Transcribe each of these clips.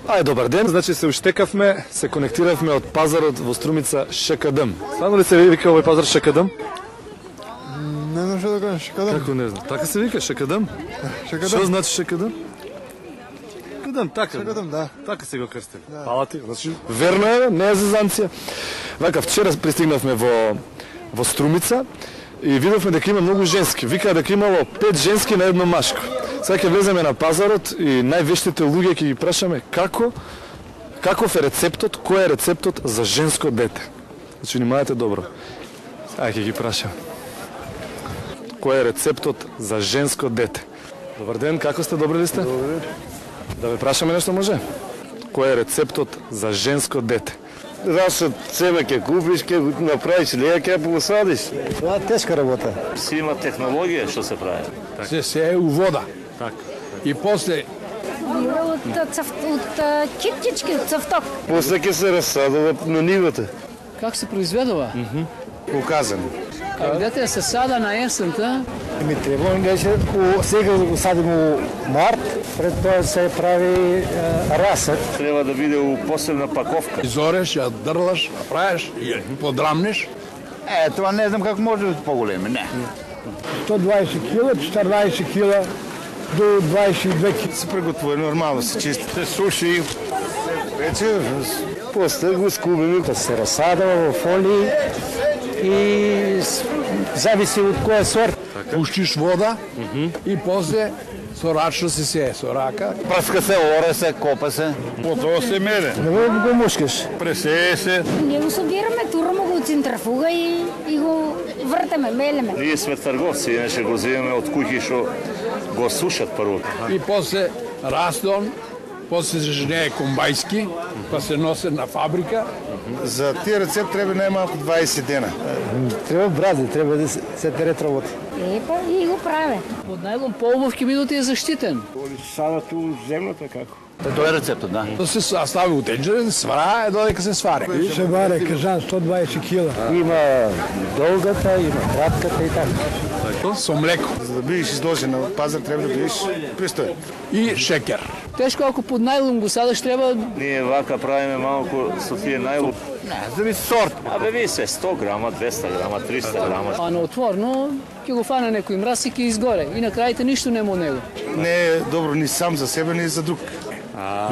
Ај, добар ден. Значи се уштекавме, се конектиравме од пазарот во Струмица ШКДМ. Стварно ли се вика овој пазар ШКДМ? Не знам што да кажам, ШКДМ. Како не знам? Така се вика ШКДМ? Што значи ШКДМ? ШКДМ, така. ШКДМ, да. Така се го крстили. Фала ти. Значи верно е, не е зезанција. Вака вчера пристигнавме во Струмица и видовме дека има многу женски. Викаа дека имало 5 женски на едно машко. Сега ќе влеземе на пазарот и највештите луѓе ќе ги прашаме каков е рецептот, кој е рецептот за женско дете. Значи, внимавајте добро. Ај ќе ги прашам. Кој е рецептот за женско дете? Добар ден, како сте, добри ли сте? Добре. Да ве прашаме нешто може? Кој е рецептот за женско дете? Расот цема ќе купиш, ќе го направиш, леја ќе го посадиш. Това е тешка работа. Си има технологија што се прави. Се е у вода. Така. И после От киптички, от цавток. После ќе се разсадува на нивата. Как се произведува? Указано. Дете се сада на есента. Ми треба беше сега го садим у март, пред тоа се прави расет. Треба да биде у посебна паковка. изореш, ја дрлаш, правиш и ја подрамнеш. Това не знам как може да по-големи, не. 120 кила, 14 кила до 22 кила. Се приготвува нормално, се чисти. Се суши. Вече после го скубиме. Да се разсадува во фолии и зависи од која сорт. Пуштиш вода и после со рачно се сее, со рака. Пръска се, оре се, копа се. Потоа се мере. Не го мушкаш. Пресее се. Ние го собираме, тураме го од центрафуга и го вртаме, мелеме. Ние сме трговци, иначе го земеме од куќи што го сушат прво. И после растон, после се женее комбајски, па се носе на фабрика. За тие рецепт треба најмалку 20 дена. Треба брази, треба да се терет работа. Епа, и го праве. Под најлон полубов ќе бидете е заштитен. Сада ту земната како? Тоа е рецептот, да. Да се стави у тенџер, свара, додека се свари. Се варе кажан 120 кила. Има долгата, има кратката и така. Со млеко За да бидеш изложен на пазар треба да бидеш пристоен. и шекер. Тешко ако под најлон го садаш треба. Ние вака правиме малку со тие најлуп. Не, зависи сорт. Абе ви се 100 грама, 200 грама, 300 грама. А на отворно ќе го фане некој мраз и ќе изгоре. И на крајте ништо нема од него. Не е добро ни сам за себе, ни за друг.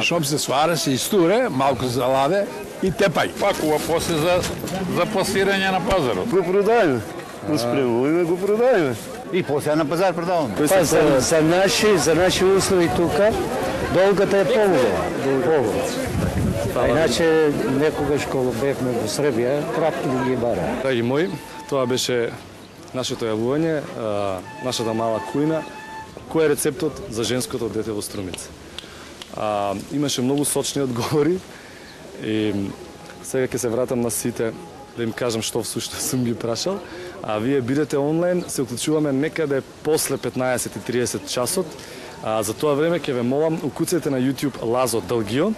Шом се сваре, се истуре, малку заладе и тепај. Пакува после за пласирање на пазарот. Го продајме. Го спремуваме, го продајме. И после на пазар продавам. Па за наши услови тука долгата е полуга. А иначе некогаш кога бевме во Србија, кратки ги бара. Драги мои, тоа беше нашето јавување, нашата мала кујна. Кој е рецептот за женското дете во Струмица? Имаше многу сочни одговори и сега ќе се вратам на сите да им кажам што всушност сум ги прашал. А вие бидете онлайн, се уклучуваме некаде после 15:30 часот. За тоа време ќе ве молам, укуцајте на YouTube Лазо Дългио.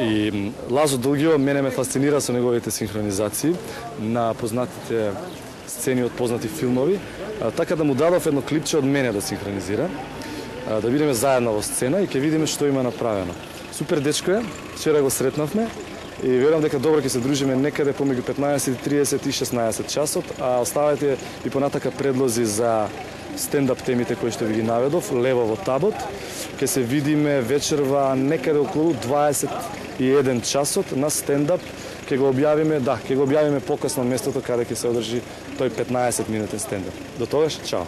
И Лазо Дългио мене ме фасцинира со неговите синхронизации на познатите сцени од познати филмови, така да му дадов едно клипче од мене да синхронизира, да бидеме заедно во сцена и ќе видиме што има направено. Супер дечко е, вчера го сретнавме и верувам дека добро ќе се дружиме некаде помеѓу 15:30 и 16 часот, а оставајте и понатака предлози за стендап темите кои што ви ги наведов, лево во табот. Ќе се видиме вечерва некаде околу 21 часот на стендап. Ќе го објавиме покасно местото каде ќе се одржи тој 15 минутен стендап. До тогаш, чао.